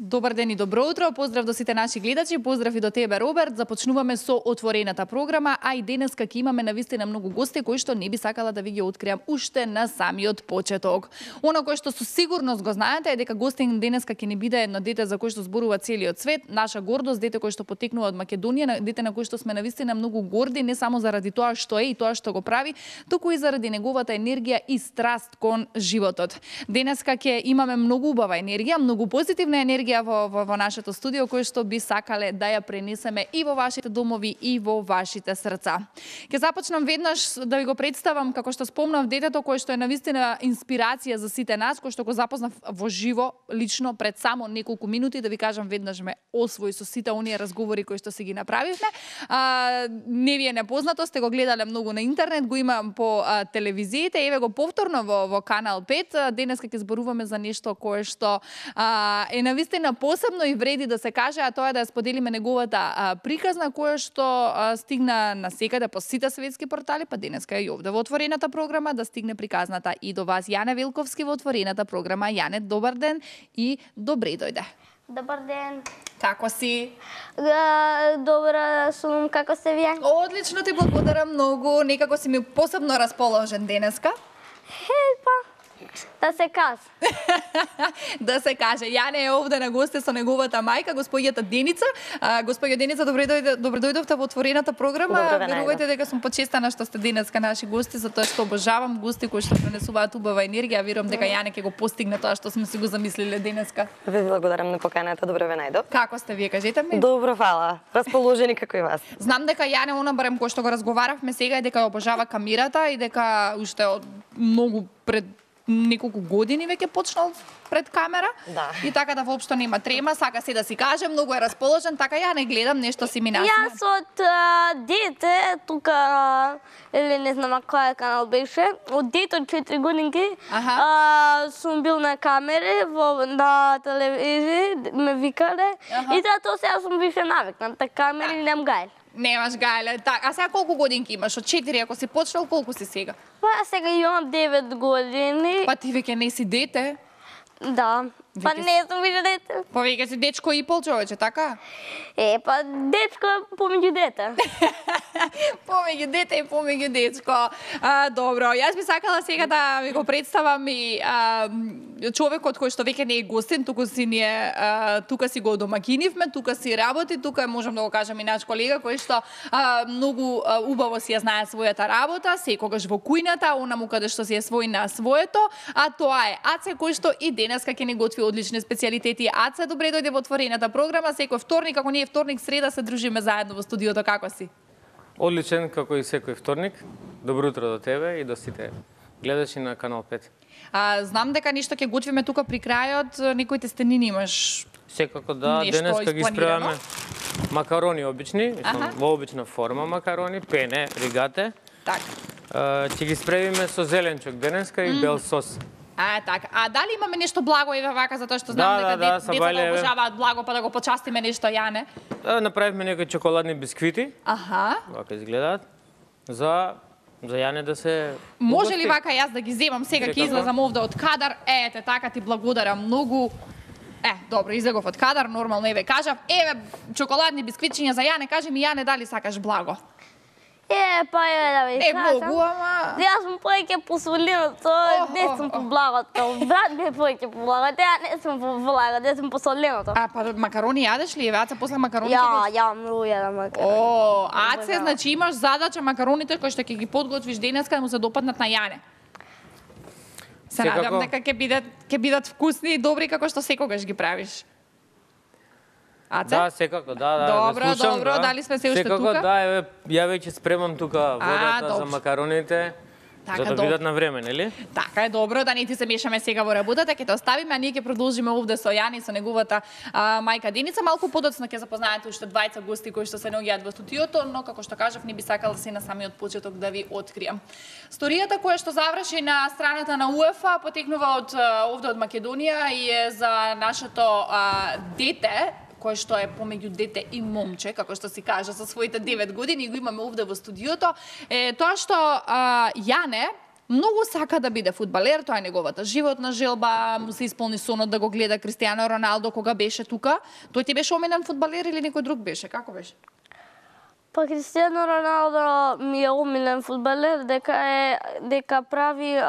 Добар ден и добро утро, поздрав до сите наши гледачи, поздрав и до тебе, Роберт. Започнуваме со отворената програма, а и денеска ќе имаме навистина многу гости кои што не би сакала да ви ги откриам уште на самиот почеток. Оно кој што со сигурност го знаете е дека гостин денеска ќе ни биде едно дете за кој што зборува целиот свет, наша гордост, дете кој што потекнува од Македонија, дете на кој што сме навистина многу горди, не само заради тоа што е и тоа што го прави, туку и заради неговата енергија и страст кон животот. Денеска ќе имаме многу убава енергија, многу позитивна енергија во нашето студио, кој што би сакале да ја пренесеме и во вашите домови и во вашите срца. Ќе започнам веднаш да ви го представам, како што спомнав, детето кој што е навистина инспирација за сите нас, кој што го запознав во живо, лично, пред само неколку минути, да ви кажам, веднаш ме освои со сите оние разговори кои што си ги направивме. Не ви е непознато, сте го гледале многу на интернет, го имам по телевизиите, еве го повторно во Канал 5. Денеска ќе зборуваме за нешто кое што е навистина посебно и вреди да се каже, а тоа е да ја споделиме неговата приказна која што стигна на секаде по сите светски портали, па денеска и овде во отворената програма да стигне приказната и до вас. Јане Велковски во отворената програма. Јане, добар ден и добре дојде. Добар ден. Како си? Добра сум, како се вие? Одлично, ти благодарам многу. Некако си ми посебно расположен денеска. Да се каже. Да се каже. Јане е овде на госте со неговата мајка, господјата Деница. Господја Деница, добре дојдовте во отворената програма. Верувајте дека сум почестана што сте денеска наши гости, затоа што обожавам гости кои што пренесуваат убава енергија. Верувам дека Јане ќе го постигне тоа што сме си го замислиле денеска. Ви благодарам на поканата, добро ве најдов. Како сте вие, кажете ми? Добро, фала. Расположени како и вас. Знам дека Јане, барем кој што го разговаравме сега, е дека ја обожава камерата и дека уште од многу пред неколку години веќе почнал пред камера. Да. И така да воопшто нема трема, сака се да си каже, многу е расположен, така ја не гледам нешто си ми насме. Јас од дете, тука, или не знам кој канал беше, од дете од 4 годинки, сум бил на камери, на телевизија, ме викале, и затоа сега сум више навикнат, на камери нем гајле. Немаш гајле. А сега колку годинки имаш? Од 4, ако си почнал, колку си сега? Па сега имам 9 години. Па ти веќе не си дете? Да. Па не сум више дете. Па веќе си дечко и пол, човече, така? Па дечко помеѓу дете. Помеѓу дете и помеѓу дечко. Добро, јас би сакала сега да ви го представам и човекот кој што веќе не е гостин, тука си го домакинивме, тука си работи, тука можам да го кажам и наш колега кој што многу убаво си ја знае својата работа, секогаш во кујната, онаму каде што си е свој на своето, а тоа е Аце кој што и денеска ќе ни готви одлични специјалитети. Аце, добре дојде во отворената програма, секој вторник, ако не е вторник, среда се дружиме заедно во студиото, како си? Одличен, како и секој вторник. Добро утро до тебе и до сите гледачи на Канал 5. Знам дека нешто ќе готвиме тука при крајот, некои тестенини имаш. Секако да, денеска ги спремаме макарони обични, во обична форма макарони, пене, ригате. Така. Ќе ги спремиме со зеленчок денеска и бел сос. Така. А дали имаме нешто благо еве вака, затоа што знам дека децата обожаваат благо, па да го почастиме нешто, Јане? Направивме некои чоколадни бисквити. Вака изгледаат. За Јане да се... Може ли вака јас да ги земам сега, ќе излезам овде од кадар? Ете, така ти благодарам многу. Добро, излегов од кадар, нормално, еве кажав. Еве, чоколадни бисквитчиња за Јане, кажи ми, Јане, дали сакаш благо? Па да ви кажам. Многу, ама... Јас сум повеќе по соленото, не сум по благото. Брат ми е повеќе по благото, ја не сум по благото, ја сум по соленото. Па макарони јадеш ли? Аце после макарони? Ја многу јадам макарони. Аце, значи имаш задача макароните кои што ќе ги подготвиш денеска да му се допаднат на Јане. Се надам дека ќе бидат вкусни и добри како што секогаш ги правиш. Аце? Да, секако, да. Добро, дали сме се уште тука? Секако, да, ја веќе спремам тука водата за макароните. За да бидат на време, нели? Така е, добро, да не ти се мешаме сега во работата, ќе те оставиме, а ние ќе продолжиме овде со Јани, со неговата мајка Деница. Малку подоцна ќе запознаете уште двајца гости кои што се наоѓаат во студиото, но како што кажав, не би сакала се на самиот почеток да ви откриам. Сторијата која што заврши на страната на УЕФА потекнува од овде од Македонија и е за нашето дете, кој што е помеѓу дете и момче, како што си кажа, со своите 9 години, го имаме овде во студиото, е тоа што Јане многу сака да биде фудбалер, тоа е неговата животна желба, му се исполни сонот да го гледа Кристијано Роналдо кога беше тука. Тој ти беше омилен фудбалер или некој друг беше? Како беше? Па Кристијано Роналдо ми е омилен фудбалер, дека прави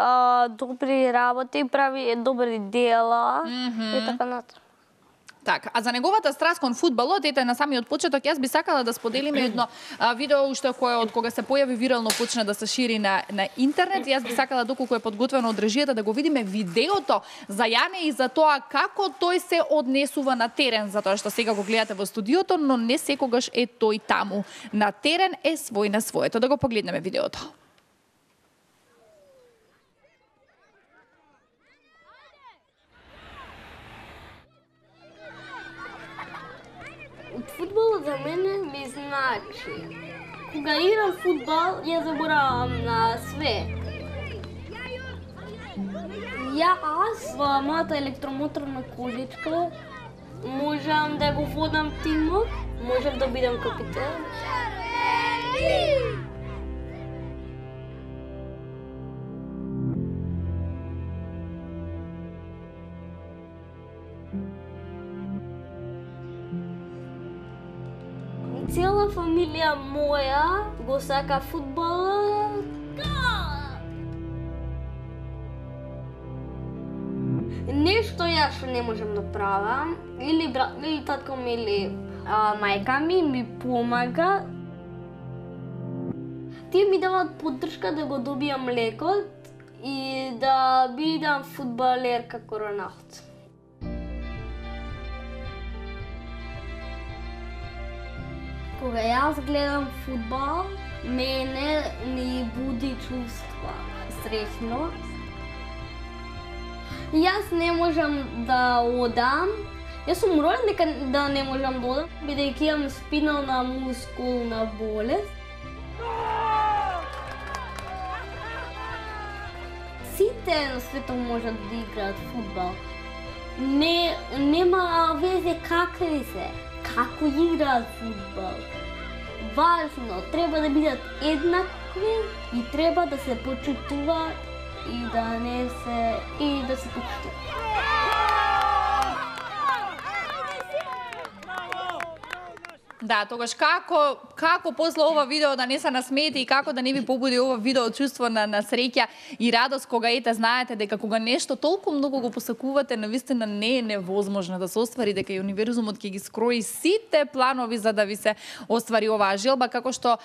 добри работи, прави добри дела и така натаму. Така, а за неговата страст кон фудбалот, ете на самиот почеток, јас би сакала да споделиме едно видео уште кое од кога се појави вирално почна да се шири на интернет. Јас би сакала доколку е подготвено од режијата да го видиме видеото за Јане и за тоа како тој се однесува на терен, затоа што сега го гледате во студиото, но не секогаш е тој таму. На терен е свој на своето. Да го погледнеме видеото. Фудбалот за мене ми значи. Кога играм фудбал, ја заборавам на све. Јас во мојата електромоторна количка можам да го водам тимот, можам да бидам капитен. Цела фамилија моја го сака фудбалот. Нешто јас што не можам да правам, или татко ми или мајка ми помага. Тие ми даваат поддршка да го добијам лекот и да бидам фудбалер како Роналдо. Кога јас гледам фудбал, мене ми буди чувства среќност. Јас не можам да одам. Јас сум роден дека да не можам да одам, бидејќи имам спинална мускулна болест. Сите на светот можат да играат фудбал. Нема везе какви се. Како играат фудбал. Важно, треба да бидат еднакви и треба да се почитуваат и да се почитуваат. Да, тогаш како после ова видео да не се насмеете и како да не ви побуди ова видео чувство на среќа и радост кога знаете дека кога нешто толку многу го посакувате, навистина не е невозможно да се оствари, дека и универзумот ќе ги скрои сите планови за да ви се оствари оваа желба, како што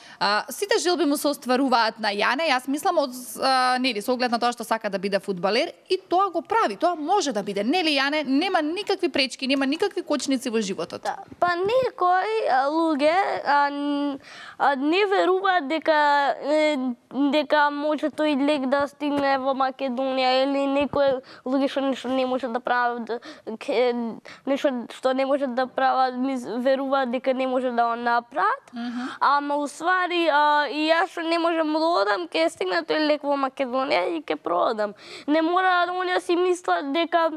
сите желби му се остваруваат на Јане. Јас мислам со оглед на тоа што сака да биде фудбалер и тоа го прави, тоа може да биде. Нели Јане, нема никакви пречки, нема никакви кочници во животот. Да. Па некој луѓе не веруваат дека може тој лек да стигне во Македонија или некои луѓе што нешто не можат да прават, нешто што не можат да прават, веруваат дека не може да го направат. Ама уствари и јас што не можам да одам, ќе стигне тој лек во Македонија и ќе продам. Не мора да си мислат дека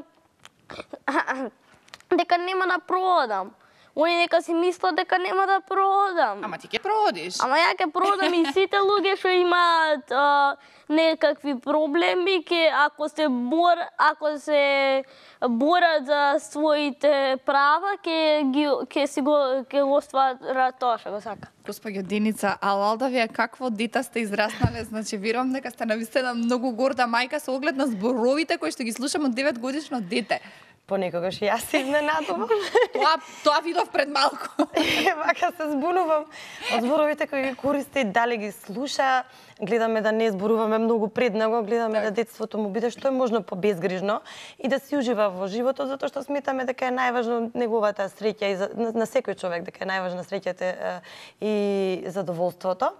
нема да продам. Они нека си мислат дека нема да продам. Ама ти ќе продиш. Ама ја ќе продам и сите луѓе што имаат некакви проблеми, ако се борат за своите права, ќе го остварат тоа што го сака. Госпоѓо Деница, алалда вие какво дете сте израснале, значи верувам дека сте навистина многу горда мајка со оглед на зборовите кои што ги слушам од 9 годишно дете. Понекогаш и јас се изненадувам. Тоа видов пред малку. Вака се збунувам од зборовите кои ги користи, дали ги слуша, гледаме да не зборуваме многу пред него, гледаме да детството му биде што е можно побезгрижно и да си ужива во животот, затоа што сметаме дека е најважно неговата среќа и на секој човек дека е најважна среќата и задоволството.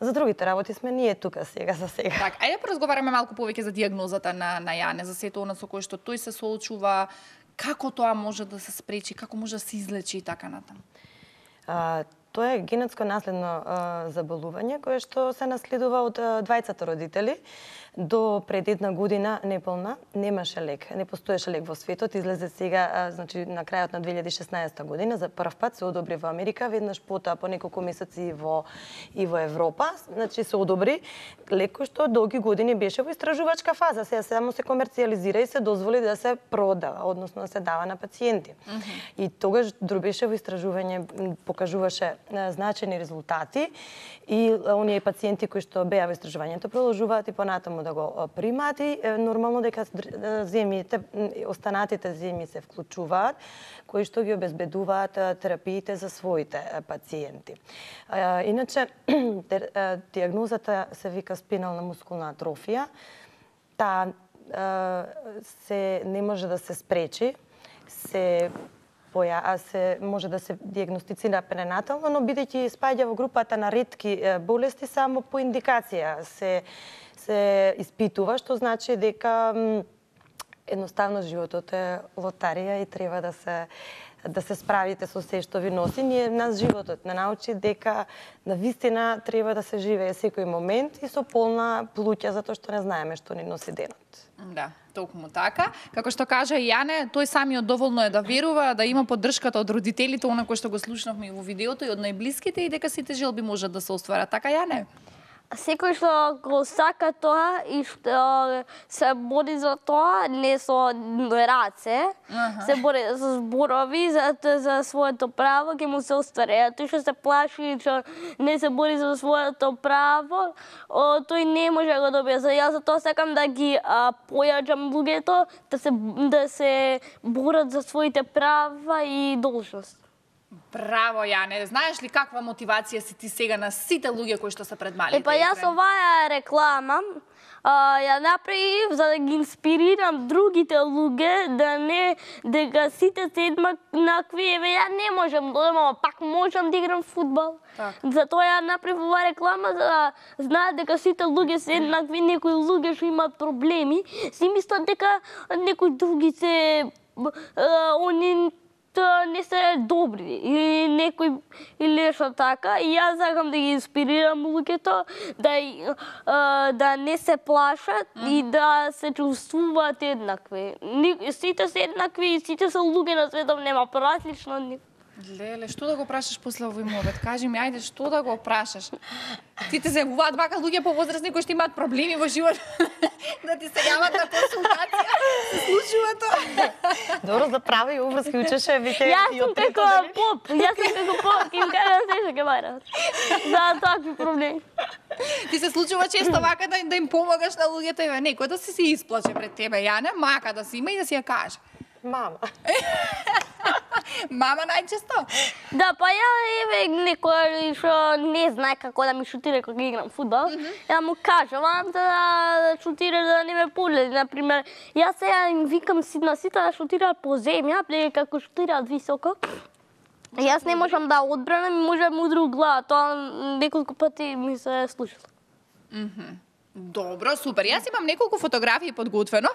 За другите работи сме ние тука сега за сега. Так, ајде поразговараме малку повеќе за дијагнозата на Јане, за сето она со кое што тој се соочува, како тоа може да се спречи, како може да се излечи и така натаму. Тоа е генетско наследно заболување кое што се наследува од двајцата родители. До пред една година неполна немаше лек, не постоеше лек во светот, излезе сега, значи на крајот на 2016 година за прв пат се одобри во Америка, веднаш потоа по неколку месеци и во Европа, значи се одобри лек кој што долги години беше во истражувачка фаза, сега само се комерцијализира и се дозволи да се продава, односно да се дава на пациенти. И тогаш беше во истражување, покажуваше значени резултати и оние пациенти кои што беа во истражувањето продолжуваат и понатаму да го примаат и нормално дека земјите, останатите земји се вклучуваат, кои што ги обезбедуваат терапиите за своите пациенти. Иначе, диагнозата се вика спинална мускулна атрофија. Таа не може да се спречи, се може да се диагностицира пренатално, но бидејќи спаѓа во групата на ретки болести, само по индикација се испитува, што значи дека едноставно животот е лотарија и треба да се справите со се што ви носи. Нас животот не научи дека навистина треба да се живее секој момент и со полна плуќа, затоа што не знаеме што ни носи денот. Да, токму така. Како што кажа Јане, тој самиот доволно е да верува, да има поддршката од родителите, она кој што го слушнавме и во видеото, и од најблиските, и дека сите желби можат да се остварат. Така, Јане? Секој што го сака тоа и што се бори за тоа, не со раце, се бори со зборови за своето право, ќе му се оствари. А тој што се плаши, што не се бори за своето право, тој не може да го добие. Јас за тоа сакам да ги појаčam луѓето, да се борат за своите права и должности. Браво, Јане. Знаеш ли каква мотивација си ти сега на сите луѓе кои што се пред малите екрани? Јас оваа реклама ја направив за да ги инспирирам другите луѓе, дека сите се еднакви, ја не можам, пак можам да играм фудбал. Затоа ја направив оваа реклама за да знаат дека сите луѓе се еднакви, некои луѓе што имаат проблеми, си мислат дека некои други се не се добри или некој или нешто така, и јас сакам да ги инспирирам луѓето да не се плашат и да се чувствуваат еднакви. Сите се еднакви, сите се луѓе на светот, нема различно од нив. Леле, што да го прашаш после овој мовет? Кажи ми, ајде, што да го прашаш? Ти те зајавуваат вака луѓе повозрастни кои што имаат проблеми во живот да ти се јават на консултација? Се случува тоа? Добро, за прави обврски учеше, виќе и од трето дали? Јас сум како поп, им кажам се што ќе барат. За такви проблеми. Ти се случува често вака да им помогаш на луѓето и некој да се исплаче пред тебе, Јане, мака да си има и да си ја каже. Мама. Мама најчесто? Да, па ја некој што не знае како да ми шутира кога играм фудбал, ја му кажам да шутира да не ме полети. Например, јас сега им викам на сите да шутираат по земја, како шутираат високо. Јас не можам да одбранам и можам удру глава, тоа неколку пати ми се случило. Добро, супер. Јас имам неколку фотографии подготвено.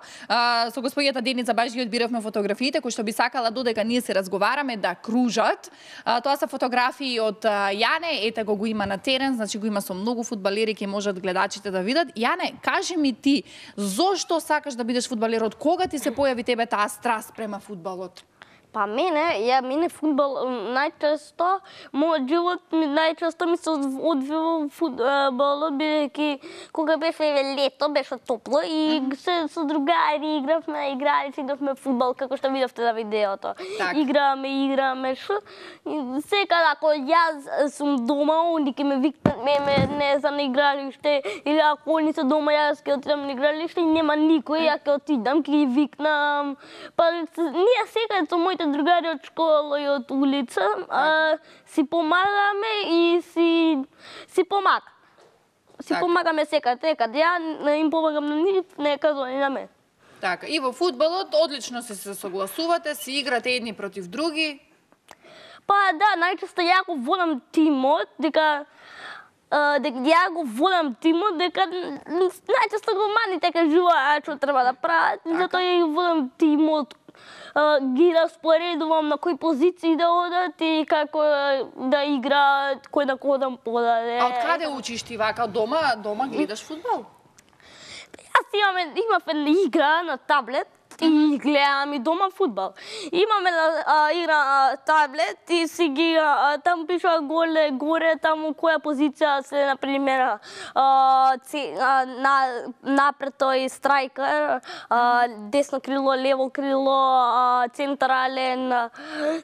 Со господјата Деница баш ги одбиравме фотографиите кои што би сакала додека ние се разговараме да кружат. Тоа се фотографии од Јане, ете го има на терен, значи го има со многу фудбалери, ќе можат гледачите да видат. Јане, кажи ми ти, зошто сакаш да бидеш фудбалер? Од кога ти се појави тебе таа страст према фудбалот? Па мене фудбал најчесто, мојот живот најчесто ми се одвива фудбалот, бидејќи кога беше лето, беше топло и со другари игравме, игравме фудбал, како што видовте на видеото. Играме, секако ако јас сум дома, онди ќе ме викнат, не знам, на игралиште, или ако они се дома, јас ќе отидам на игралиште и нема никој, ја ќе отидам, ќе ги викнам. Па ние секако со моите другари од школа и од улица, си помагаме и си помагаме. Си помагаме секаде. Ја им помагам на нив, нека они на мене. Така, и во фудбалот одлично се согласувате, си играте едни против други? Па да, најчесто ја го водам тимот, дека ја го водам тимот, дека најчесто го маните кажуваат што треба да прават, затоа ја го водам тимот, ги распоредувам на кои позиции да одат и како да играат, кој на кој да подаде. А од каде учиш ти вака? Дома гледаш фудбал? имав една игра на таблет и гледам и дома фудбал. Имаме игра на таблет и си ги там пишува горе таму која позиција се например напред тој страйкер, десно крило, лево крило,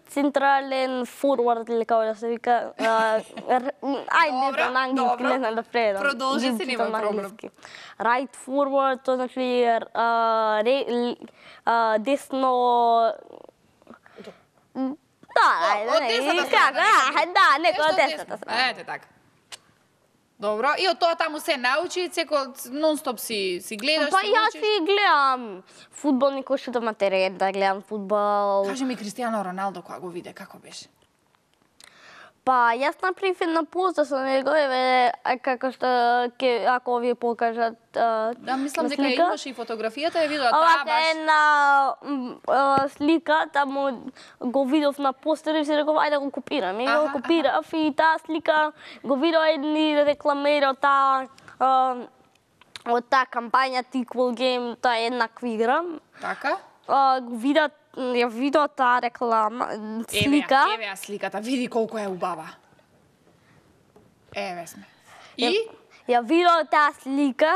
централен форвард или како да се вика. Ајде на англиски, не знам да предам. Продолжи се, нема проблем. Right forward, тоа значи десно... Од десната. Ете така. Добро, и од тоа таму се научи, секој нон-стоп си гледаш, па јас си гледам фудбал, никој што да ма терен да гледам фудбал. Кажи ми Кристијано Роналдо кога го виде, како беше? Па, јас направив една поста со него, како што ако ви покажат да, мислам дека имаше и фотографијата, ја видела таа баш. Една слика, таму го видов на постер и си реков, ајде го копирам. И го копирав и таа слика го видов едни рекламери од таа кампања Equal Game, таа еднаква игра. Така? Ја видов таа реклама, слика. Еве ја сликата, види колку е убава. Еве сме. И? Ја видов таа слика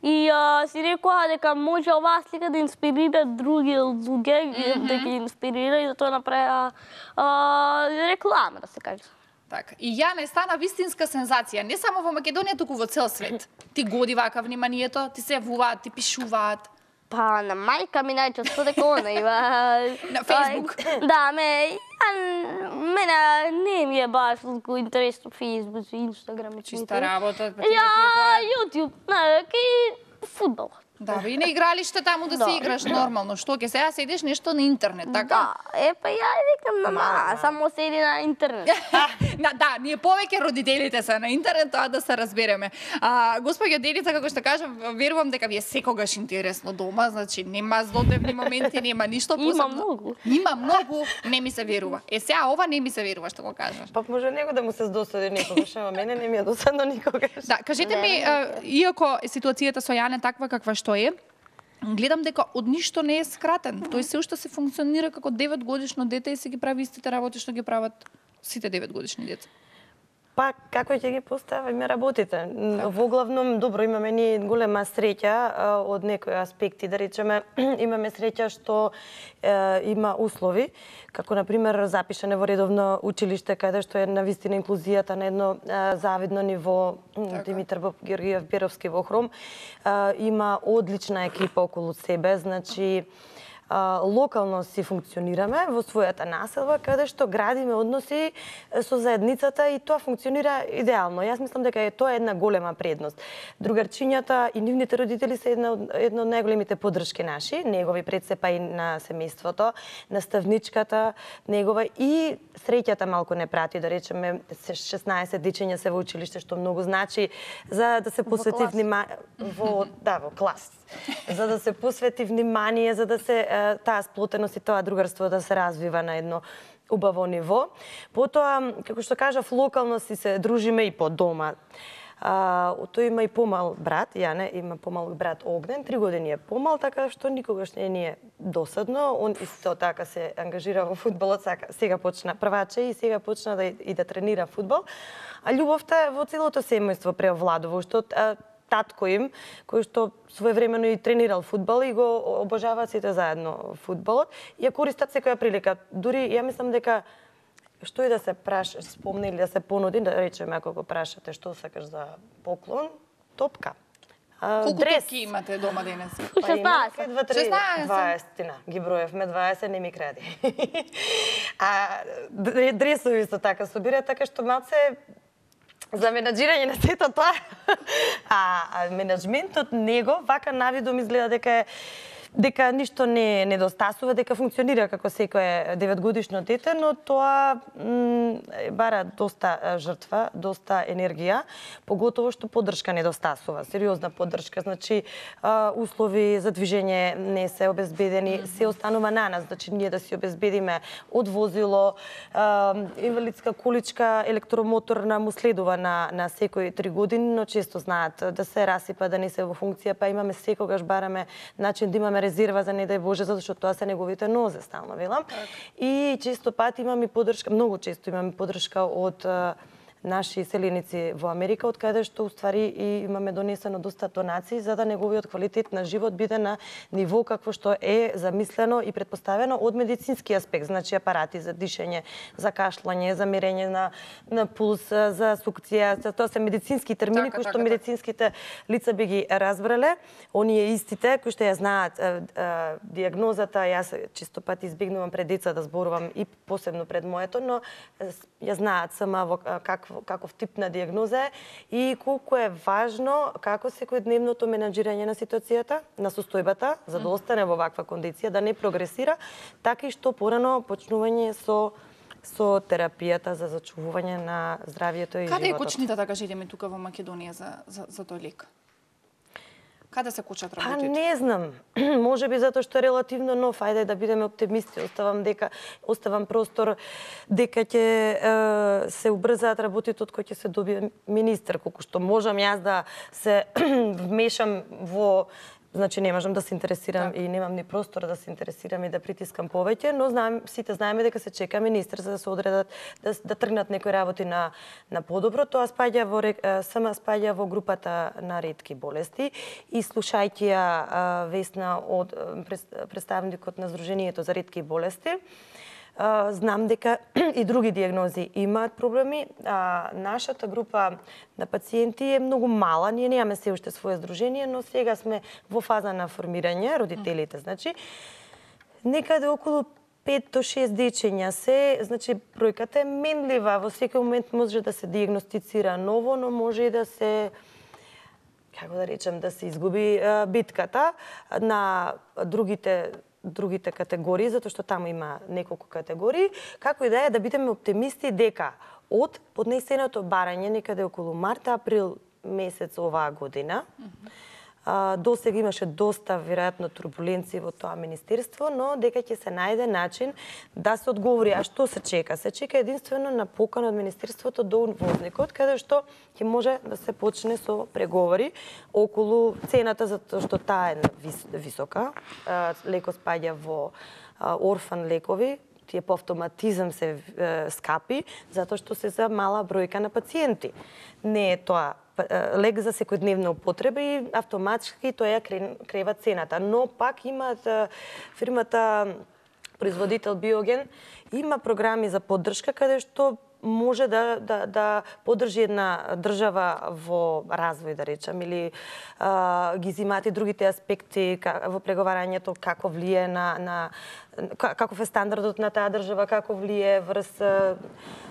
и си рекоа дека може оваа слика да инспирира други луѓе, да ги инспирира и затоа направи реклама, да се каже. Така. И Јане стана вистинска сензација, не само во Македонија, туку во цел свет. Ти годи вака вниманието, ти се јавуваат, ти пишуваат. Па, на мајка ми најчесто дека она има... На Фейсбук? Да, мене не ми е баш толку интересно Фейсбук, Инстаграм и Чиста работа. Јутјуб, и фудбал. Да, и на игралиште таму да се играш нормално. Што ќе сега седиш нешто на интернет, така? Да, па ја викам на мама, само седи на интернет. Да, ние повеќе родителите се на интернет, тоа да се разбереме. Госпоѓа Деница, како што кажам, верувам дека ви е секогаш интересно дома, значи нема злодневни моменти, нема ништо посебно. Има многу. Има многу, не ми се верува. Сега ова не ми се верува што го кажеш. Па може него да му се досади некогаш, ама мене не ми е досадно никогаш. Да, кажете ми, иако ситуацијата со Јане таква каква што е, гледам дека од ништо не е скратен. Тој се уште се функционира како 9-годишно дете и се ги прави истите работи што ги прават сите 9-годишни деца. Па, како ќе ги поставиме работите? Воглавном, добро, имаме ние голема среќа од некои аспекти, да речеме, имаме среќа што има услови, како, например, запишане во редовно училиште, каде што е навистина инклузијата на едно завидно ниво, Димитар Георгиев Беровски во Хром, има одлична екипа околу себе, значи, локално си функционираме во својата населба, каде што градиме односи со заедницата и тоа функционира идеално. Јас мислам дека тоа е една голема предност. Другарчињата и нивните родители се едно од најголемите поддршки наши, негови пред се па и на семејството, наставничката негова и среќата малку не прати, да речеме 16 дечиња се во училиште, што многу значи за да се посвети внимание во клас. За да се посвети внимание, за да се таа сплотеност и тоа другарство да се развива на едно убаво ниво. Потоа, како што кажав, локално си се дружиме и по дома. Тој има и помал брат, Јане има помал брат Огнен, 3 години е помал, така што никогаш не ни е досадно. Он исто така се ангажира во фудбалот, сега почна прваче и сега почна да тренира фудбал. А љубовта во целото семејство преовладува, што татко им, кој што своевремено и тренирал фудбал и го обожаваат сите заедно фудбалот, ја користат секоја прилика. Дури ја мислам дека што и да се спомне или да се понуди, да речеме ако го прашате што сакаш за поклон, топка. Колку топки имате дома денес? 16. 20 ги броевме, 20 не ми кради. Дресови исто така собира, така што малце за менаџирање на сето тоа. А менаџментот него вака навидом изгледа дека е дека ништо не недостасува, дека функционира како секое 9-годишно дете, но тоа бара доста жртва, доста енергија, поготово што поддршка недостасува, сериозна поддршка, значи услови за движење не се обезбедени, се останува на нас, значи ние да си обезбедиме од возило, инвалидска количка, електромоторна му следува на секои 3 години, но често знаат да се расипа, да не се во функција, па имаме секогаш бараме начин да имаме резерва за не дај Боже, затоа што тоа се неговите нозе, стално велам. И често пати имаме поддршка, многу често имаме поддршка од наши селеници во Америка, од каде што уствари и имаме донесено доста донации за да неговиот квалитет на живот биде на ниво какво што е замислено и претпоставено од медицински аспект, значи апарати за дишење, за кашлање, за мерење на пулс, за сукција, тоа се медицински термини кои што медицинските лица би ги разбрале, оние истите кои што ја знаат диагнозата, јас често пати избегнувам пред деца да зборувам и посебно пред моето, но ја знаат сама во каков тип на диагноза е и колку е важно како секојдневното менаџирање на ситуацијата, на состојбата, за да остане во ваква кондиција, да не прогресира, така и што порано почнување со терапијата за зачувување на здравието и животот. Каде е кочница, да кажеме, тука во Македонија за тој лек? Каде се кочат работите? Не знам. Може би затоа што е релативно нов, ајде да бидеме оптимисти. Оставам простор дека ќе се убрзаат работите од кој ќе се добие министер, колку што можам јас да се вмешам во. Значи не можам да се интересирам и немам ни простор да се интересирам и да притискам повеќе, но сите знаеме дека се чека министер за да се одредат да тргнат некои работи на подобро. Тоа спаѓа во групата на ретки болести и слушајќи ја Весна од представникот на Сдруженијето за ретки болести, знам дека и други диагнози имаат проблеми. Нашата група на пациенти е многу мала. Ние немаме се уште свое здружение, но сега сме во фаза на формирање, родителите, значи. Некаде околу 5 до 6 дечења се, значи бројката е менлива. Во секој момент може да се диагностицира ново, но може и да се, како да речем, да се изгуби битката на другите категории, затоа што таму има неколку категории, како и да бидеме оптимисти дека од поднесеното барање некаде околу март-април месец оваа година, досега имаше доста веројатно турбуленции во тоа министерство, но дека ќе се најде начин да се одговори. А што се чека? Се чека единствено на покана од министерството до увозникот, каде што ќе може да се почне со преговори околу цената, затоа што таа е висока. Лекот спаѓа во орфан лекови, тие по автоматизам се скапи, затоа што се за мала бројка на пациенти. Не е тоа лек за секојдневна употреба и автоматски тоа ја крева цената. Но пак имаат фирмата производител Биоген има програми за поддршка каде што може да поддржи една држава во развој, да речем, или ги зимаат и другите аспекти во преговарањето, како влие на каков е стандардот на таа држава, како влие врз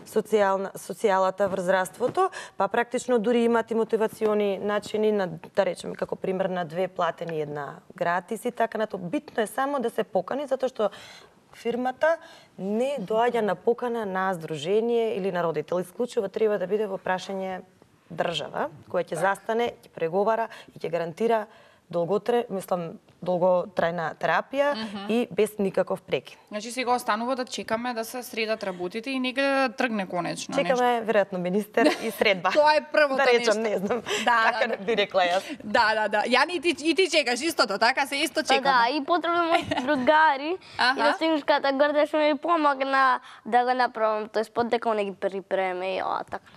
социјалата, врз здравството, па практично дури имаат и мотивациони начини на, да речеме, како пример на 2 платени, 1 гратис и така нато. Битно е само да се покани, затоа што фирмата не доаѓа на покана на здружение или на родител. Исклучиво треба да биде во прашање држава, која ќе застане, ќе преговара и ќе гарантира долготрајна терапија и без никаков прекин. Значи сега останува да чекаме да се средат работите и нека да тргне конечно. Чекаме веројатно министер и средба. Тоа е првото да речем, нешто. Не знам така би рекла јас. Да. Јани и ти чекаш истото, така се исто чекаме. Да, и потребно мои другари и да Синушката Горда што ми помогна да го направам тој спот, дека не ги припреме и така.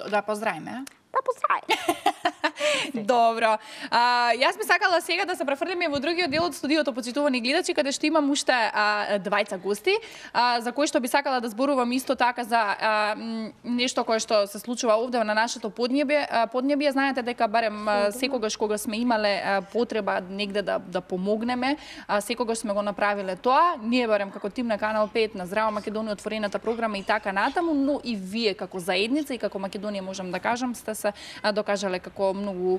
Да поздравиме. Да поздравиме. Добро. Јас би сакала сега да се префрлиме во другиот дел од студиото, почитувани гледачи, каде што имам уште двајца гости, за кои што би сакала да зборувам исто така за нешто кое што се случува овде на нашето поднебје. Знаете дека барем секогаш кога сме имале потреба негде да помогнеме, секогаш сме го направиле тоа. Ние барем како тим на Канал 5 на Здрава Македонија, отворената програма и така натаму, но и вие како заедница и како Македонија можам да кажам сте се докажале како многу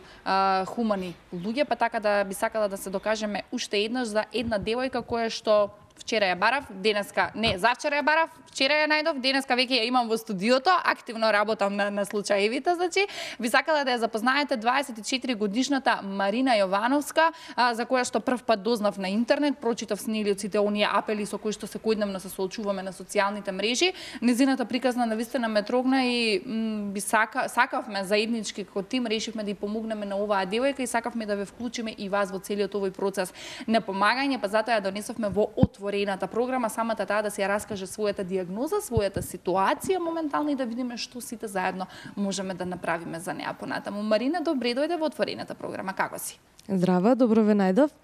хумани луѓе, па така да би сакала да се докажеме уште еднаш за една девојка која што вчера ја барав, денеска не, завчера ја барав, вчера ја најдов, денеска веќе ја имам во студиото, активно работам на случаевите, значи би сакала да ја запознаете 24 годишната Марина Јовановска, за која што прв пат дознав на интернет, прочитав с нели од сите оние апели со кои што секојдневно се соочуваме на социјалните мрежи. Незината приказна навистина ме трогна и би сакавме заеднички како тим решивме да ја помогнеме на оваа девојка и сакавме да ве вклучиме и вас во целиот овој процес на помагање, па затоа ја донесовме во отворената програма, самата таа да се ја раскаже својата диагноза, својата ситуација моментално и да видиме што сите заедно можеме да направиме за неа понатаму. Марина, добре дојде во отворената програма. Како си? Здраво, добро ве најдов.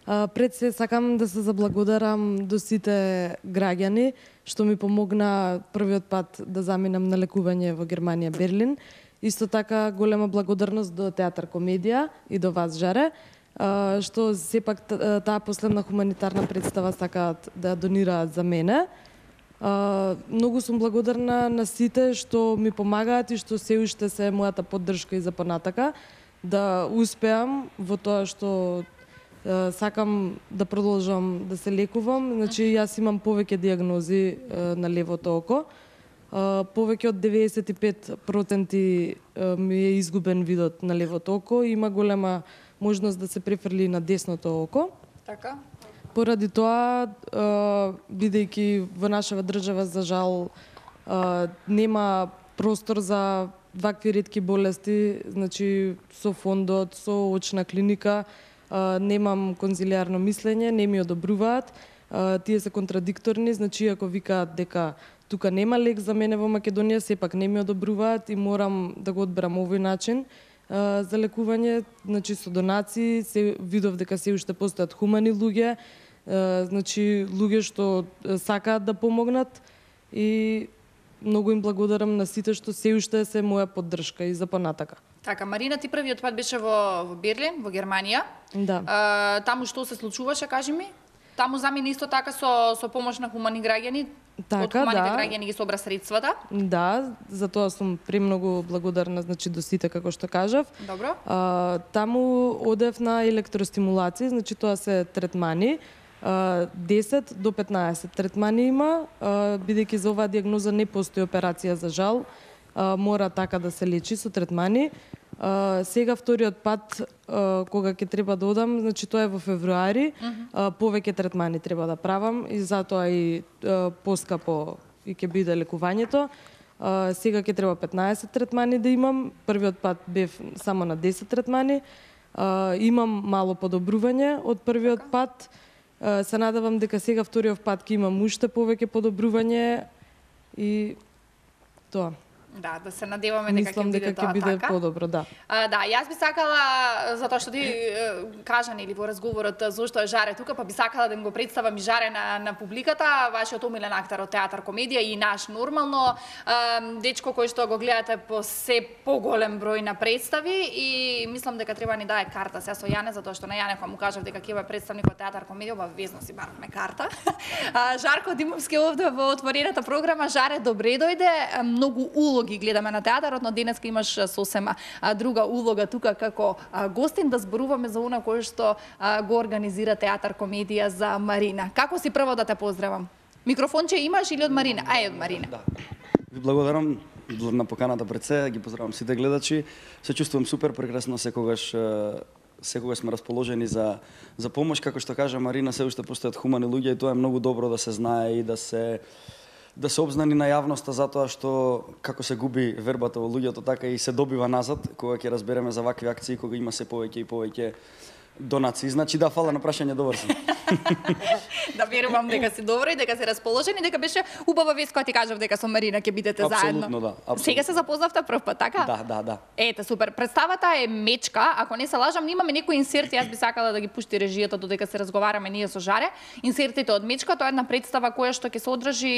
Пред се сакам да се заблагодарам до сите граѓани што ми помогна првиот пат да заминам на лекување во Германија, Берлин. Исто така голема благодарност до Театар Комедија и до вас, Жаре, што сепак таа последна хуманитарна представа сакаат да донираат за мене. Многу сум благодарна на сите што ми помагаат и што се уште се мојата поддршка и за понатака да успеам во тоа што сакам да продолжам да се лекувам. Значи, јас имам повеќе диагнози на левото око. Повеќе од 95% ми е изгубен видот на левото око и има голема можност да се префрли на десното око. Така? Поради тоа, бидејќи во нашава држава, за жал, нема простор за вакви ретки болести, значи со фондот, со очна клиника, немам конзилиарно мислење, не ми одобруваат, тие се контрадикторни, значи ако викаат дека тука нема лек за мене во Македонија, сепак не ми одобруваат и морам да го одберам овој начин за лекување, значи со донации, се видов дека се уште постојат хумани луѓе, значи луѓе што сакаат да помогнат и многу им благодарам на сите што се уште се моја поддршка и за понатака. Така, Марина, ти првиот пат беше во Берлин, во Германија. Да. Таму што се случуваше, кажи ми? Таму замина исто така со помош на хумани граѓани? Така, од хуманите да. граѓани ги собра средствата? Да, за тоа сум премногу благодарна, значи до сите како што кажав. Добро. Таму одев на електростимулации, значи тоа се третмани. 10 до 15 третмани има, бидејќи за оваа диагноза не постои операција за жал, мора така да се лечи со третмани. Сега вториот пат кога ќе треба да одам, значи тоа е во февруари, повеќе третмани треба да правам и затоа и поскапо и ќе биде лекувањето. Сега ќе треба 15 третмани да имам, првиот пат бев само на 10 третмани. Имам мало подобрување од првиот пат. Се надевам дека сега вториот пат ќе имам уште повеќе подобрување и тоа. Да, да се надеваме дека ќе биде тоа така. Мислам дека ќе биде подобро, да. Да, јас би сакала, затоа што ти кажа нели во разговорот зошто е Жаре тука, па би сакала да им го представам и Жаре на публиката, вашиот омилен актер од Театар Комедија и наш нормално дечко кој што го гледате по се поголем број на представи и мислам дека треба ни дае карта се со Јане, затоа што на Јане кога му кажав дека ќе бе представник од Театар Комедија, обавезно си баравме карта. Жарко Димовски овде во отворената програма. Жаре, добре дојде. Многу улоги гледаме на театарот, но денеска имаш сосема друга улога тука како гостин да зборуваме за она кое што го организира Театар Комедија за Марина. Како си прво да те поздравам? Микрофонче имаш или од Марина? Ај, од Марина. Да. Ви благодарам на поканата пред се, ги поздравам сите гледачи. Се чувствувам супер прекрасно секогаш сме расположени за помош, како што кажа Марина, се уште постојат хумани луѓе и тоа е многу добро да се знае и да се обзнани на јавноста, затоа што како се губи вербата во луѓето, така и се добива назад кога ќе разбереме за вакви акции, кога има се повеќе и повеќе донации. Значи да, фала на прашање, добар сум. Да верувам дека си добро и дека си расположени, дека беше убава вест кога ти кажав дека со Марина ќе бидете заедно. Апсолутно, да. Апсолутно. Сега се запознавте прв пат, така? Да. Ете, супер. Представата е Мечка, ако не се лажам, имаме некои инсерти, јас би сакала да ги пушти режијата додека се разговараме ние со Жаре. Инсертите од Мечка, тоа е една представа која што ќе се одржи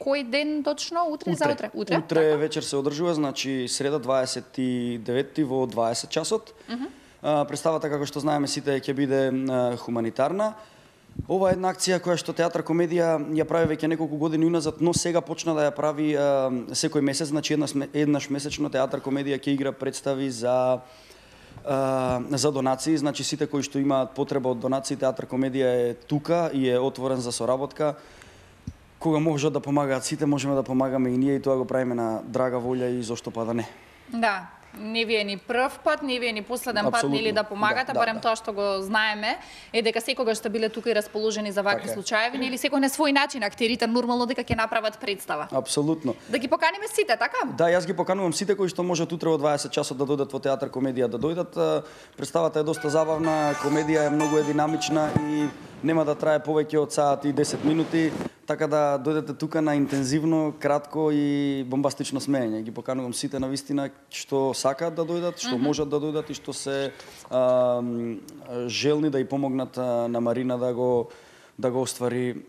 кој ден точно? Утре? Утре така? Вечер се одржува, значи среда 29 во 20 часот. Представата, како што знаеме сите, ќе биде хуманитарна. Ова е една акција која што Театар Комедија ја прави веќе неколку години уназад, но сега почна да ја прави секој месец, значи еднаш месечно Театар Комедија ќе игра представи за за донации, значи сите кои што имаат потреба од донации, Театар Комедија е тука и е отворен за соработка. Кога можат да помагаат сите, можеме да помагаме и ние, и тоа го правиме на драга волја и зошто па да не. Да, не ви е ни прв пат, не ви е ни последен пат, нели да помагате, барем тоа што го знаеме, е дека секогаш сте биле тука и расположени за вакви случаеви, нели секој на свој начин актерите нормално дека ќе направат представа. Апсолутно. Да ги поканиме сите, така? Да, јас ги поканувам сите кои што можат утре во 20 часот да дојдат во Театар Комедија да дојдат. Представата е доста забавна, комедија е многу динамична и нема да трае повеќе од саат и 10 минути, така да дојдете тука на интензивно, кратко и бомбастично смеење. Ги поканувам сите на вистина што сакаат да дојдат, што можат да дојдат и што се желни да ја помогнат на Марина да го оствари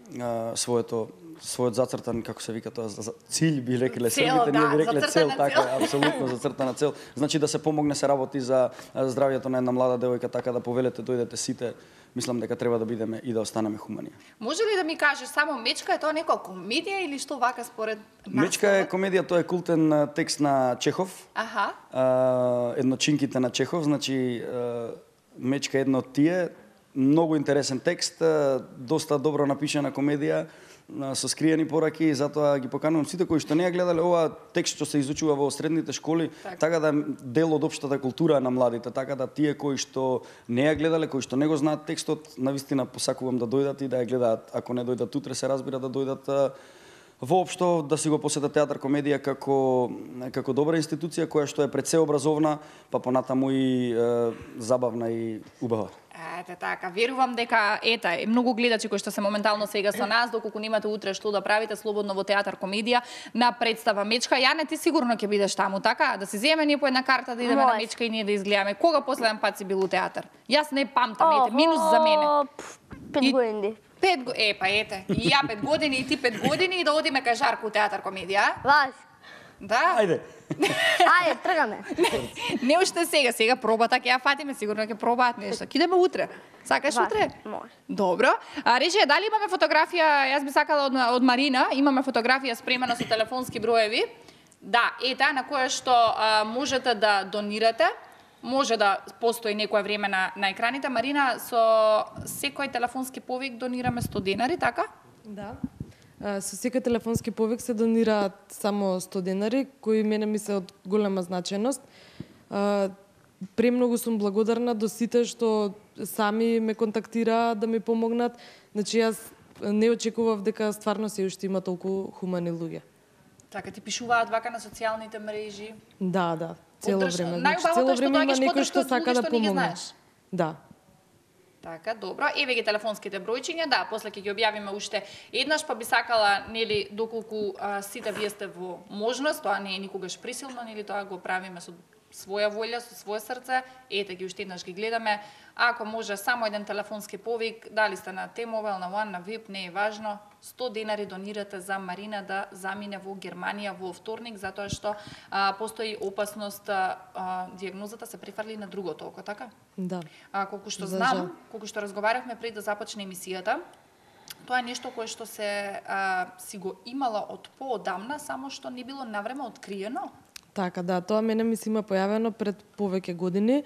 својот зацртан, како се вика тоа, cilj би рекле србите, ние би рекле цел, така, апсолутно зацртана цел. Значи да се помогне, се работи за здравјето на една млада девојка, така да повелете дојдете сите. Мислам дека треба да бидеме и да останеме хумани. Може ли да ми кажеш само Мечка е тоа некоја комедија или што вака според нас? Мечка е комедија, тоа е култен текст на Чехов. Аха. Едночинките на Чехов, значи Мечка е едно од тие, многу интересен текст, доста добро напишана комедија со скриени пораки, затоа ги поканувам сите кои што не ја гледале ова текст што се изучува во средните школи, така да дел од општата култура на младите, така да тие кои што не ја гледале, кои што не го знаат текстот, навистина посакувам да дојдат и да ја гледаат, ако не дојдат утре, се разбира да дојдат воопшто да си го посетат Театар Комедија како добра институција која што е пред се образовна, па понатаму и забавна и убава. Ете така, верувам дека многу гледачи кои што се моментално сега со нас, доколку немате утре што да правите, слободно во Театар Комедија на представа Мечка. Јане, ти сигурно ќе бидеш таму, така? Да се земеме ние по една карта да идеме на Мечка и ние да изгледаме. Кога последен пат си бил у театар? Јас не памтам, минус за мене. 5 години. 5 години, па ете, и ја 5 години и ти 5 години и да одиме кај Жарко у Театар Комедија. Ваш. Да? Ајде. Ајде, тргаме. Не уште сега пробата ќе ја фатиме, сигурно ќе пробаат нешто. Ќе идеме утре. Сакаш утре? Може. Добро. Рече, дали имаме фотографија, јас би сакала од Марина, имаме фотографија спремена со телефонски броеви. Да, на која што можете да донирате. Може да постои некоја време на екраните. Марина, со секој телефонски повик донираме 100 денари, така? Да. Со секој телефонски повик се донираат само 100 денари, кои мене ми се од голема значајност. Премногу сум благодарна до сите што сами ме контактираат да ми помогнат. Значи јас не очекував дека стварно се уште има толку хумани луѓе. Така, ти пишуваат вака на социјалните мрежи? Да, цело време. Значи, цело време има некој што сака да помогне. Да. Така, добро. Еве ги телефонските бројчиња, да, после ќе ги објавиме уште еднаш, па би сакала, нели, доколку сите вие сте во можност, тоа не е никогаш присилно, нели, тоа го правиме со своја волја, со свое срце, ете ги уште еднаш ги гледаме. Ако може само еден телефонски повик, дали сте на T-Mobile, на One, на VIP, не е важно, 100 денари донирате за Марина да замине во Германија во вторник, затоа што постои опасност дијагнозата се префрли на другото око, така? Да. Колку што знам, колку што разговарахме пред да започне емисијата, тоа е нешто кое што се си го имала од поодамна, само што не било навреме откриено. Така, да, тоа мене ми се има појавено пред повеќе години,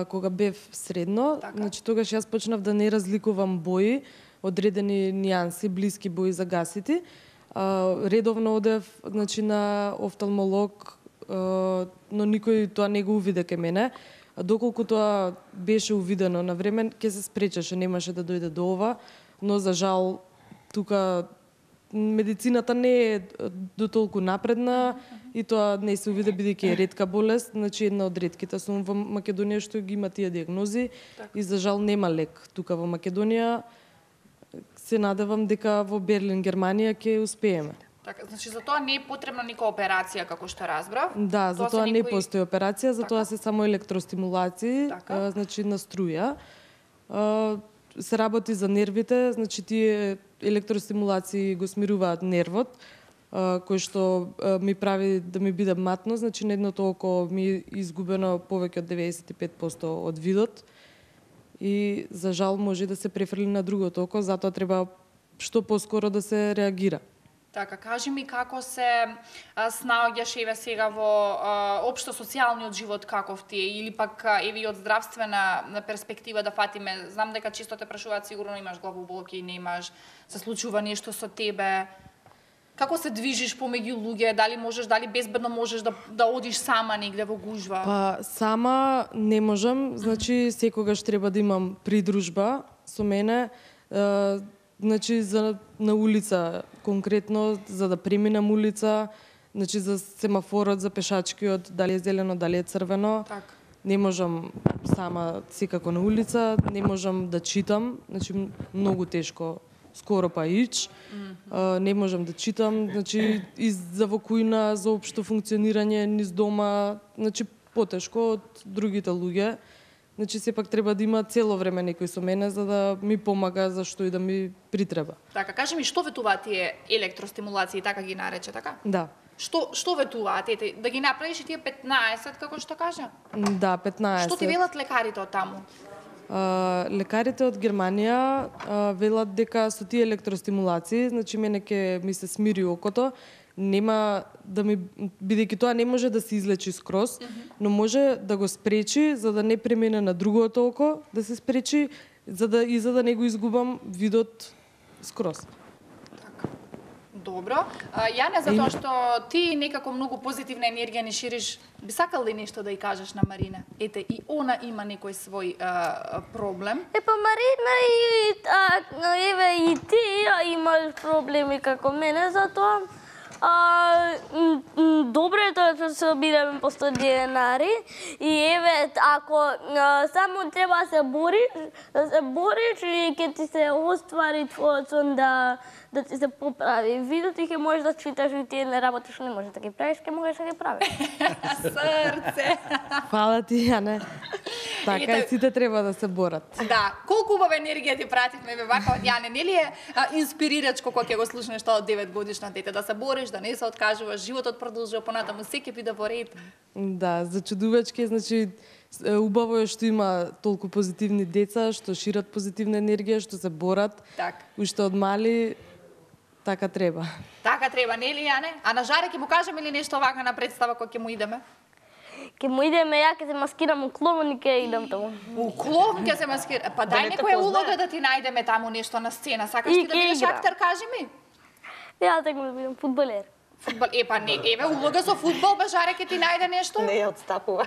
кога бев средно. Така. Значи, тогаш јас почнав да не разликувам бои, одредени нијанси, блиски бои за гасити. Редовно одев, значи, на офталмолог, но никој тоа не го увиде кај мене. Доколку тоа беше увидено на време, ќе се спречеше, немаше да дојде до ова, но за жал тука медицината не е до толку напредна и тоа не се увиде бидејќи е ретка болест, значи една од ретките сум во Македонија што ги има тие дијагнози и за жал нема лек тука во Македонија. Се надевам дека во Берлин, Германија ќе успееме. Така, значи за тоа не е потребна никоја операција како што разбрав. Да, за тоа не постои операција, за тоа се само електростимулации, значи на струја. Се работи за нервите, значи тие електростимулации го смируваат нервот, кој што ми прави да ми биде матно, значи на едното око ми е изгубено повеќе од 95% од видот и за жал може да се префрли на другото око, затоа треба што поскоро да се реагира. Така, кажи ми како се снаоѓаш еве сега во општо социјалниот живот каков ти е, или пак еве и од здравствена перспектива да фатиме. Знам дека често те прашуваат, сигурно имаш главоболки, немаш, се случува нешто со тебе. Како се движиш помеѓу луѓе? Дали безбедно можеш да одиш сама негде во гужва? Па сама не можам, значи секогаш треба да имам придружба со мене. Значи на улица конкретно за да преминам улица, значи за семафорот, за пешачкиот, дали е зелено, дали е црвено. Так. Не можам сама секако на улица, не можам да читам, значи многу тешко, скоро па ич. Не можам да читам, значи и за во кујна, за општо функционирање низ дома, значи потешко од другите луѓе. Значи сепак треба да има цело време некој со мене за да ми помага за што и да ми притреба. Така, кажи ми што ветуваат тие електростимулации, така ги нарече, така? Да. Што ветуваат ете? Да ги направиш и тие 15, како што кажа? Да, 15. Што ти велат лекарите од таму? Лекарите од Германија велат дека со тие електростимулации, значи мене ќе ми се смири окото, нема да ми, бидејќи тоа не може да се излечи скроз, но може да го спречи за да не премине на другото око, да се спречи за да не го изгубам видот скроз. Добро. Јане, затоа што ти некако многу позитивна енергија ни шириш, би сакал ли нешто да ја кажеш на Марина? Ете, и она има некој свој проблем. Па Марина и ти имаш проблеми како мене, затоа добро е тоа што се обидеме по 100 денари и еве, ако само треба да се бориш и ќе ти се оствари твојот сон да ти се поправи видот и ќе можеш да читаш и тие не работи што не можеш да ги правиш, ќе можеш да ги правиш. Срце! Фала ти, Јане. Така и сите треба да се борат. Да, колку убава енергија ти пративме вака од Јане, нели е инспирирачко кога ќе го слушнеш тоа од 9 годишно дете, да се бориш, да не се откажуваш, животот продолжува понатаму, секој биде во ред. Да, зачудувачки, значи убаво е што има толку позитивни деца, што шират позитивна енергија, што се борат. Так. Уште од мали така треба. Така треба, нели Јане? А на Жаре ќе му кажеме ли нешто вака на представа кога ќе му идеме? Ќе му идеме, ја ќе се маскирам у клоун и ќе идам таму. У клоун ќе се маскира. Па дај некоја улога да ти најдеме таму нешто на сцена. Сакаш ти да бидеш актер, кажи ми? Ја текам да бидам фудбалер. Фудбал, па не, еве улога за фудбал, Жаре ќе ти најде нешто? Не ја отстапува.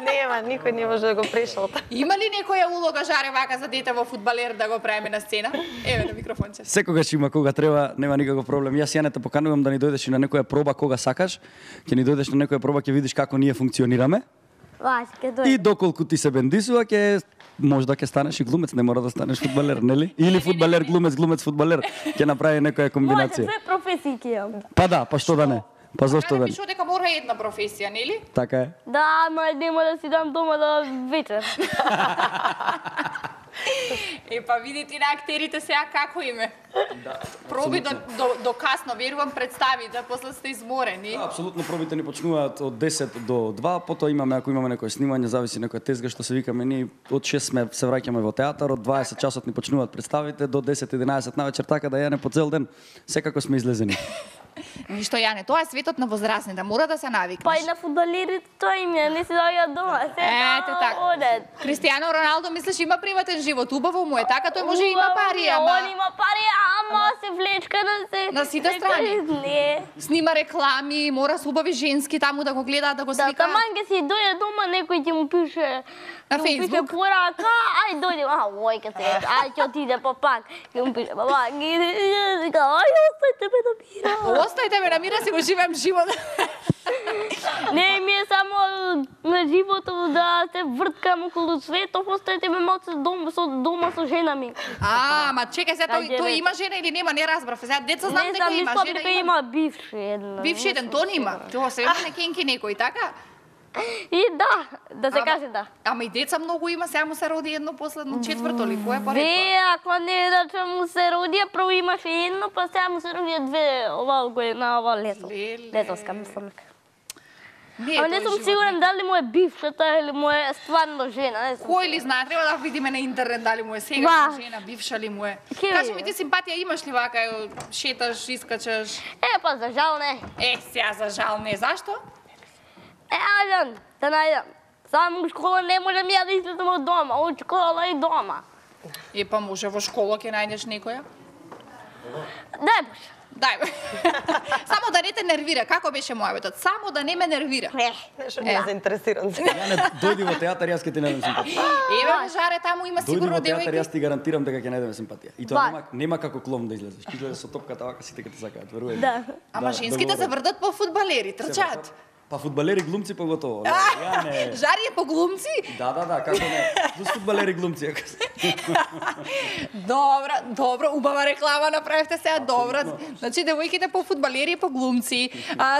Нема, никој не може да го прешалта. Има ли некоја улога, Жаре, вака за дете во фудбалер да го правиме на сцена? Еве на микрофонче. Секогаш има кога треба, нема никаков проблем. Јас Јане те поканувам да ни дојдеш и на некоја проба кога сакаш. Ќе ни дојдеш на некоја проба, ќе видиш како ние функционираме. Вајде, ќе дојде. И доколку ти се бендисува, можда ќе станеш и глумец, не мора да станеш фудбалер, нели? Или фудбалер, глумец, фудбалер. Ќе направи некоја комбинација. Може, две професии ќе имам. Па да, па што да не? Па зошто да не? Пишува дека мора една професија, нели? Така е. Да, ама нема да си дам дома да вечер. Па видите на актерите сега како име. Да. Проби до касно, верувам представите, после сте изморени. Да, апсолутно пробите ни почнуваат од 10 до 2, потоа имаме, ако имаме некој снимање, зависи некоја тезга што се викаме, ние од 6 се враќаме во театар, од 20 часот ни почнуваат представите, до 10-11 навечер, така да Јане по цел ден секако сме излезени. Ништо Јане, тоа е светот на возрастните, мора да се навикнеш. Па и на фудбалерите тоа им е, не си доаѓаат дома, Ете така. одат. Кристијано Роналдо мислиш има приватен живот, убаво му е, така тој може има пари, ама Он има пари, ама се влечка на сите страни. Не. Снима реклами, мора се убави женски таму да го гледаат, да го Да, сликаат. таман ќе си дојде дома, некој ќе му пише На ќе му пише Facebook? порака, ај дојде, ој ке се, ај ќе отиде па пак. Ќе му пише, баба, ај остајте ме да мира. Остајте ме на мира, си го живеам живот. Не ми е само на животот да се врткам околу светот, остајте ме малку дома со жена ми. Ама чекај се, тој има жена или нема, не разбрав. Сега деца знам дека има мислам жена. дека има бивши една. Бивши еден, то нема. Тоа се има некенки некој, така? И да се каже да. Ама и деца многу има, сега му се роди едно последно четврто ли, кој е па Ве, ако не да му се роди, прво имаше едно, па сега му се роди две ова на ова лето. Летоска, мислам. Ама не сум сигурен дали му е бившата или му е стварно жена. Кој ли знае, треба да видиме на интернет дали му е сегашна жена, бивша ли му е. Кажи ми, ти симпатија имаш ли вака, шеташ, искачаш? Па за жал не. Сега за жал не, зашто? Ајдем, да најдем. Само у школа не можем ја да излезем од дома, од школа и дома. Па може во школа ќе најдеш некоја? Дај Боже. Дај. Само да не те нервира, како беше мојавето? Само да не ме нервира. Нешто не е заинтересиран. Ја не дојди во театар, јас ќе ти најдем симпатија. Еве Жаре, таму има сигурно Дојди во театар, девојки. јас ти гарантирам дека ќе најдеме симпатија. И тоа нема како клоун да излезеш. Ќе излезеш со топката вака, сите ќе те сакаат, верувај. Да. Ама женските се врдат по фудбалери, трчаат. Па фудбалери, глумци поготово. Ја не. Жари е по глумци? Да, како не. За фудбалери, глумци. Добро, убава реклама направивте сега, добро. Значи, девојките по фудбалери и по глумци.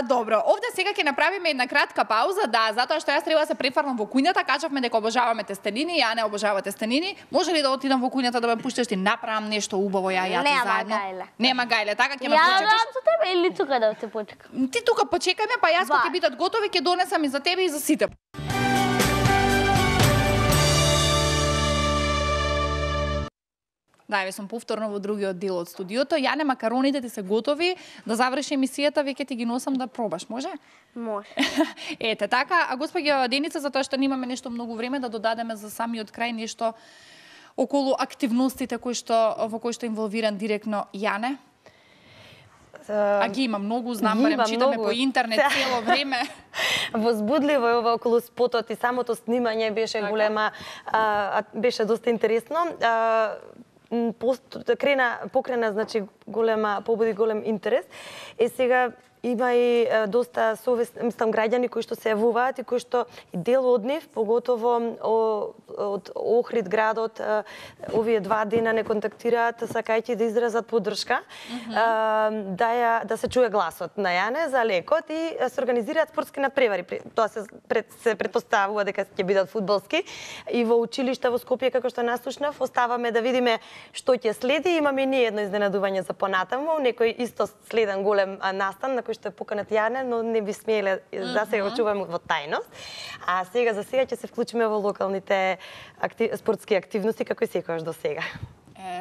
Добро, овде сега ќе направиме една кратка пауза, затоа што јас треба да се префрлам во куњата, кажавме дека обожаваме тестенини, ја не обожава тестенини. Може ли да отидам во куњата да ме пуштиш ти направам нешто убаво ја ти заедно? Нема гајле, така ќе ме почекаш. Ја за тебе или тука да те почекам? Ти тука почекај ме, па јас кога ќе бидат готови ќе донесам и за тебе и за сите. Да, ве сум повторно во другиот дел од студиото. Јане, макароните ти се готови, да заврши емисијата, веќе ти ги носам да пробаш, може? Може. Ете, така, а госпоѓа Деница, затоа што немаме нешто многу време, да додадеме за самиот крај нешто околу активностите во кои што инволвиран директно Јане? А ги има многу, знам, барем читаме по интернет цело време. Возбудливо е ова околу спотот и самото снимање беше голема, беше доста интересно. Покрена, значи, побуди голем интерес. Сега има и доста граѓани кои што се јавуваат и кои што и дел од нив, поготово од Охрид градот, овие 2 дена не контактираат, сакајќи да изразат поддршка, да се чуе гласот на Јане за лекот и се организираат спортски надпревари. Тоа се претпоставува дека ќе бидат фудбалски и во училишта во Скопје, како што наслушнав, оставаме да видиме што ќе следи. Имаме ние едно изненадување за понатаму, некој исто следен голем настан на кој што е поканат Јане, но не би смеле да се го чуваме во тајност. А сега за сега ќе се вклучиме во локалните спортски активности како и секогаш до сега.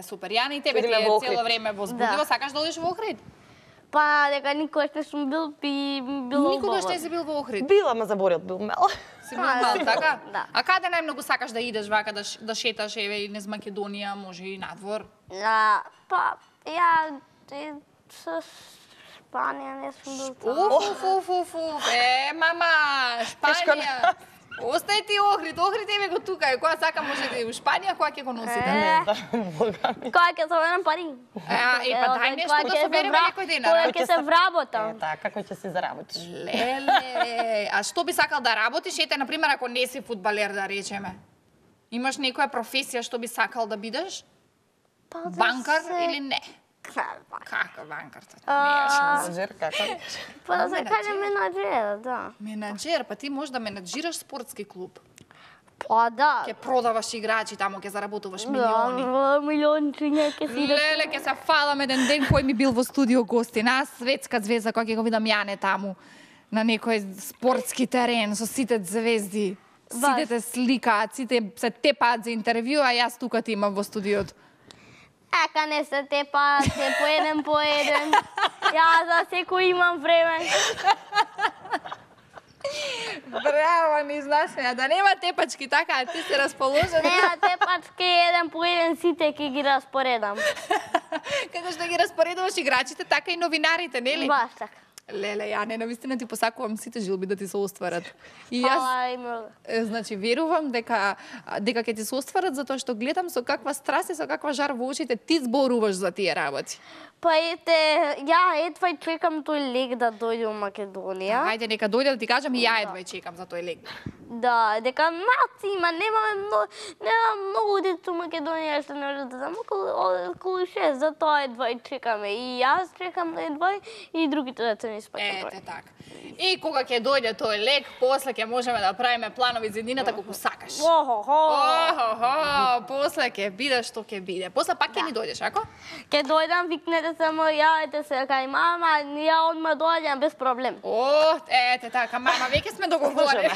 Супер. Јане, и тебе ти е цело време возбудливо, сакаш да одиш во Охрид? Па, дека никогаш не сум бил и било Никогаш не си бил во Охрид? Била, ма заборил, бил мал. Си бил мал, така? Да. А каде најмногу сакаш да идеш вака, да шеташ, еве, и низ Македонија, може и надвор? Па, ја со Шпанија не сум бил таму. Мама, Шпанија. Остај ти Охрид, еве го тука, која сака може да и у Шпанија, која ќе го носите? Која ќе соберам пари? Па дај нешто да собереме некој ден. Која ќе се вработам? Така, како ќе се заработиш? Леле, а што би сакал да работиш? Ете, например, ако не си фудбалер, да речеме. Имаш некоја професија што би сакал да бидеш? Банкар или не? Како банкар? Менаџер, како? Па да се каже менаџер, да. Менаџер, па ти можеш да менаџираш спортски клуб. Па да. Ќе продаваш играчи таму, ќе заработуваш милиони. Да, милиончиња ќе си Леле, ќе се фалам еден ден кој ми бил во студио гостин. Аз светска звезда, која ќе го видам Јане таму на некој спортски терен со сите звезди. Сите те сликаат, сите се тепаат за интервју, а јас тука ти имам во студиото. Ека не се тепаат, се по еден. Јас за секој имам време. Браво, ни знаеш, да нема тепачки, така, ти се расположен. Нема тепачки, еден по еден сите ќе ги распоредам. Како што ги распоредуваш играчите, така и новинарите, нели? Баш така. Леле, Јане, навистина ти посакувам сите жилби да ти се остварат. И јас, значи, верувам дека ќе ти се остварат, затоа што гледам со каква страст и со каква жар во очите ти зборуваш за тие работи. Па ете, ја едва чекам тој лек да дојде во Македонија. Ајде, нека дојде да ти кажам и ја едва чекам за тој лек. Да, дека има, немаме многу деца во Македонија што не може да знам, околу 6, затоа едва чекаме. И јас чекам едва и другите деца не спаќаат. Ете така. И кога ќе дојде тој лек, после ќе можеме да правиме планови за едината колку сакаш. После ќе биде што ќе биде. После пак ќе ни дојдеш, ако? Ќе дојдам, викнете само, јавете се кај мама, ја одма доаѓам без проблем. Ете така, мама, веќе сме договорени.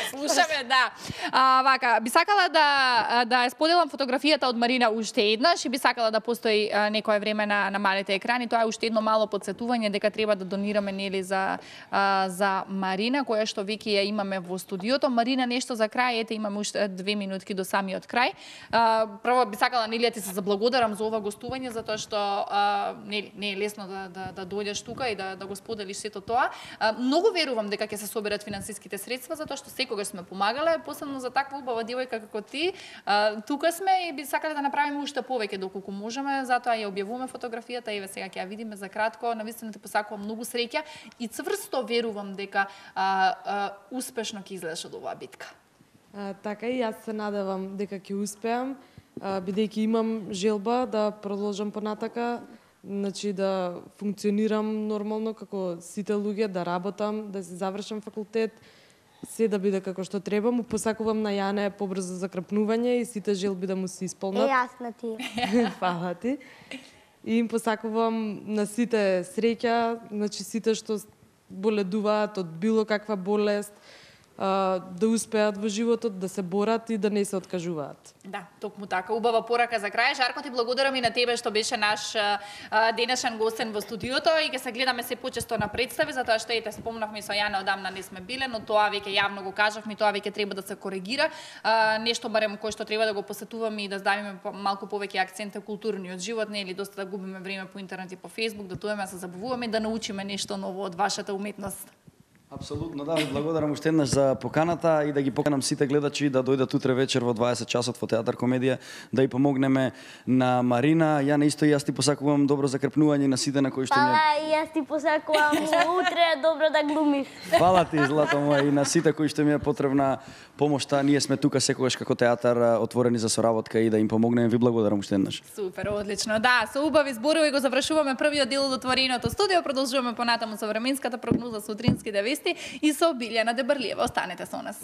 Слушаме, да. Вака, би сакала да ја споделам фотографијата од Марина уште еднаш и би сакала да постои некое време на малите екрани. Тоа е уште едно мало подсетување дека треба да донираме нели за Марина, која што веќе ја имаме во студиото. Марина, нешто за крај, ете имаме уште 2 минутки до самиот крај. Прво би сакала нели да ти се заблагодарам за ова гостување, затоа што не е лесно да дојдеш тука и да го споделиш сето тоа. Многу верувам дека ќе се соберат финансиските средства, затоа што секогаш сме помагале, посебно за таква убава девојка како ти. Тука сме и би сакале да направиме уште повеќе доколку можеме, затоа ја објавуваме фотографијата, еве сега ќе ја видиме за кратко. Навистина ти посакувам многу среќа и цврсто верувам дека успешно ќе излезеш од оваа битка. Така и јас се надевам дека ќе успеам, бидејќи имам желба да продолжам понатака, значи да функционирам нормално како сите луѓе, да работам, да си завршам факултет, се да биде како што треба. Му посакувам на Јане побрзо закрпнување и сите желби да му се исполнат. Јас на ти. Фала ти. И им посакувам на сите среќа, значи сите што боледуваат од било каква болест, да успеат во животот, да се борат и да не се откажуваат. Да, токму така. Убава порака за крај. Жарко, ти благодарам и на тебе што беше наш денешен гостен во студиото и ќе се гледаме се почесто на представи, затоа што ете спомнавме со Јана одамна не сме биле, но тоа веќе јавно го кажавме, тоа веќе треба да се коригира. Нешто барем кој што треба да го посетуваме и да ставиме малку повеќе акцент на културниот живот, не е ли доста да губиме време по интернет и по Facebook, да тоеме се забавуваме, да научиме нешто ново од вашата уметност. Апсолутно, да, ви благодарам уште еднаш за поканата и да ги поканам сите гледачи да дојдат утре вечер во 20 часот во Театар Комедија да ја помогнеме на Марина. Ја исто и јас ти посакувам добро закрпнување на сите на кои што ми... И јас ти посакувам утре добро да глумиш. Фала ти, злато моја, и на сите кои што ми е потребна помошта. Ние сме тука секогаш како театар отворени за соработка и да им помогнеме. Ви благодарам уште еднаш. Супер, одлично. Да, со убави зборови го завршуваме првиот дел од отвореното студио. Продолжуваме понатаму со временската прогноза, сутринските вести и со Билјана Дебрлиева. Останете со нас.